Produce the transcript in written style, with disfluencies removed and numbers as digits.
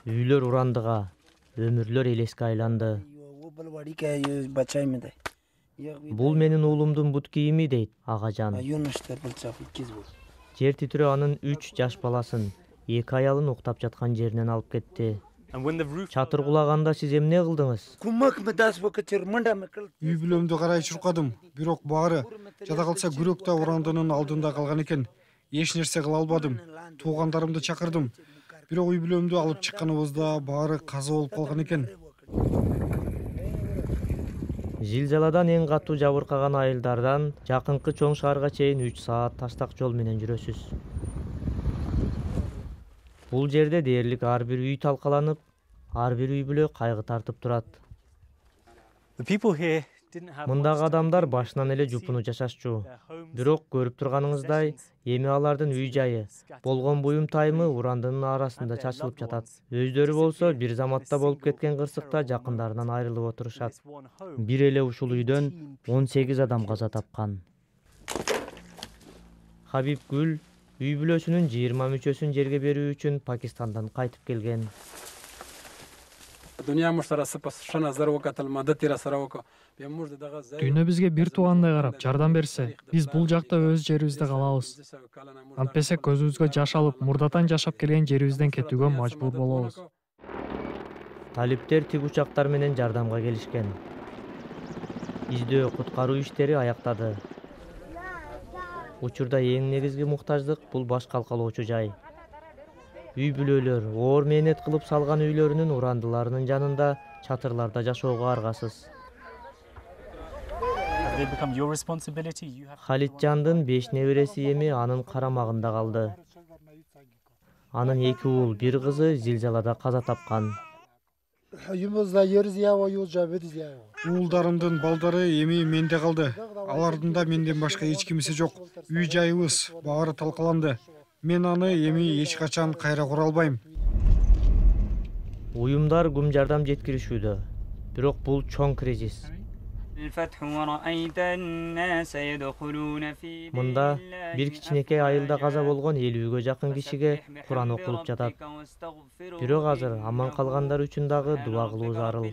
Үйлөр урандыга, өмүрлөр элеске айланды. Бул менин уулумдун бут кийими дейт агажан. Жер титирөө анын 3 жаш баласын, 2 аялын уктап жаткан жеринен алып кетти. Чатыр кулаганда сиз эмне кылдыңыз? Үй бүлөмдү карай чуркадым, бирок баары жада калса күрөк да урандынын алдында калган экен. Эч нерсе кыла албадым. Туугандарымды чакырдым. Бирок үй бүлөмдү алып чыкканыбызда баары каза болуп калган экен. Зилзаладан эң катуу жабыркаган айылдардан жакынкы чоң шаарга чейин 3 саат таштак жол менен жүрөсүз. Бул жерде дээрлик ар бир үй талкаланып, ар бир үй бүлө кайгы тартып турат. Мындагы адамдар башынан эле жупуну жашашчу. Бирок көрүп турганыңыздай, эми алардын үй жайы, болгон буюм тайымы урандынын арасында чачылып жатат. Өздөрү болсо бир заматта болуп кеткен кырсыкта жакындарынан айрылып отурушат. Бир эле ушул үйдөн 18 адам каза тапкан. Хабиб Гүл үй бүлөсүнүн 20 мүчөсүн жерге берүү үчүн Пакистандан кайтып келген. Дүйнө бизге бир туугандай карап, жардам берсе, биз бул жакта өз жерибизде калабыз. Антпесе көзүбүзгө жаш алып, мурдатан жашап келген жерибизден кетүүгө мажбур болобуз. Талиптер тик учактар менен жардамга келишкен. Издөө куткаруу иштери аяктады. Учурда эң негизги муктаждык бул баш калкалоочу жай. Үй бүлөлөр оор мээнет кылып салган үйлөрүнүн урандыларынын жанында чатырларда жашоого аргасыз. Халитжандын 5 небереси эми анын карамагында калды. Анын 2 уул, 1 кызы зилзалада каза тапкан. Уулдарымдын балдары эми менде калды. Алардын да менден башка эч кимиси жок. Үй жайыбыз баары талкаланды. Мен аны эми эч качан кайра кура албайм. Уюмдар кум жардам жеткиришүүдө. Бирок бул чоң кризис. Мында бир кичинекей айылда каза болгон 50-гө жакын кишиге Куран окулуп жатат. Бирок азыр аман калгандар үчүн дагы дуа кылуу зарыл.